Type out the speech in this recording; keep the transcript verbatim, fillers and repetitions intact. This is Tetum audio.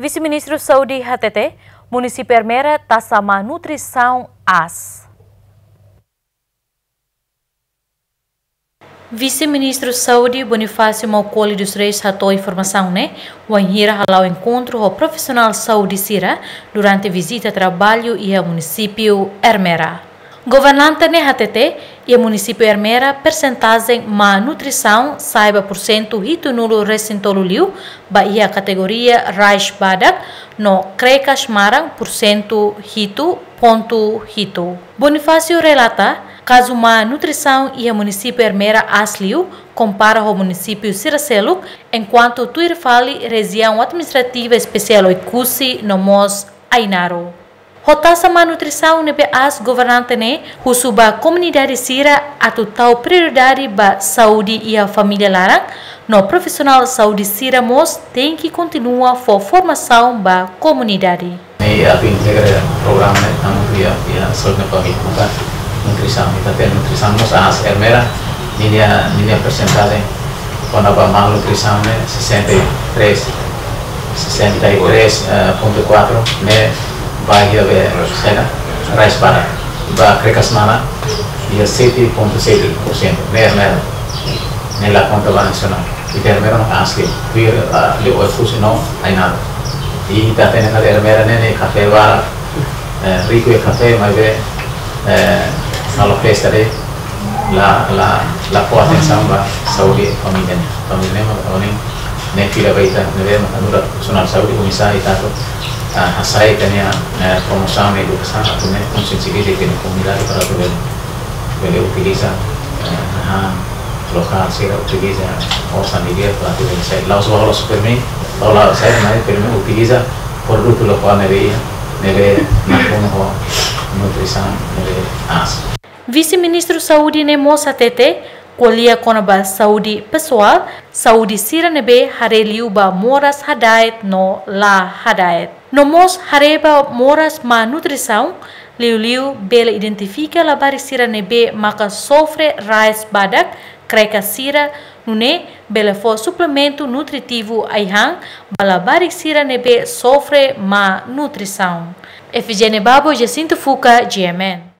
Vise-Ministru Saúde hatete, munisípiu Ermera taxa má nutrisaun aas. Vise-Ministru Saúde Bonifácio Maukoli dos Reis hato'o informasaun ne'e wainhira hala'o enkontru ho profisionál saúde sira durante vizita traballu iha munisípiu Ermera. Governante ne'e hatete, iha munisípiu Ermera persentajen má nutrisaun sa'e ba pursentu hitunulu resin tolu liu, ba iha kategoria rais badak no krekas maran pursentu hitu pontu hitu. Bonifácio relata, kazu má nutrisaun iha munisípiu Ermera aas liu kompara ho munisípiu sira seluk, enkuantu tuir fali Rejiaun Administrativa Espesiál Oekusi no mós Ainaro. Ho taxa má nutrisaun ne'ebé aas, governante ne'e husu ba komunidade sira atu tau prioridade ba saúde iha família laran, no profisionál saúde sira mós tenke kontinua fó formasaun ba komunidade. Ne'e atu integra programa ne'e tanba iha, iha saúde no família, buka nutrisaun, ita-nia nutrisaun mós aas. Ermera, ninia, ninia persentajen kona-ba malnutrisaun ne'e sessenta e três, sessenta e três ponto quatro, ne'e ba iha be sena rais badak. Ba krekas maran iha sete ponto sete por cento, ne'e Ermera. Ne'e la konta ba nasionál. Ita Ermera mak aas liu. Tuir, ah, liu Oekusi no Ainaro. I ita hatene katak Ermera ne'e, ne'e kafé barak, eh, riku iha kafé, maibé, eh, halo festa de'it, la, la, la fó atensaun ba saúde família ne'e. Família ne'e mak, mak ne'e fila ba ita, ne'ebé mak nu'udar profisionál saúde, oinsá ita atu, ah, hasai ita-nia, eh, promosaun no edukasaun, atu nune'e konsiensibiliza ita-nia komunidade para atu bele, bele utiliza, eh, hahán lokál sira, utiliza osan di'ak para atu bele sai. La'ós ba hola supermerkadu, hola sai, maibé pelo menos utiliza produtu lokál ne'ebé, ne'ebé nakonu ho nutrisaun ne'ebé aas. Vise-Ministru Saúde ne'e mós hatete, ko'alia kona-ba saúde pesoál, saúde sira ne'ebé haree liu ba moras hadaet no la hadaet. No mós haree ba moras má nutrisaun, liuliu bele identifika labarik sira ne'ebé maka sofre rais badak, krekas sira, nune'e bele fó suplementu nutritivu ai-han ba labarik sira ne'ebé sofre má nutrisaun. Efigénia Babo, Jacinto Fuca, G M N.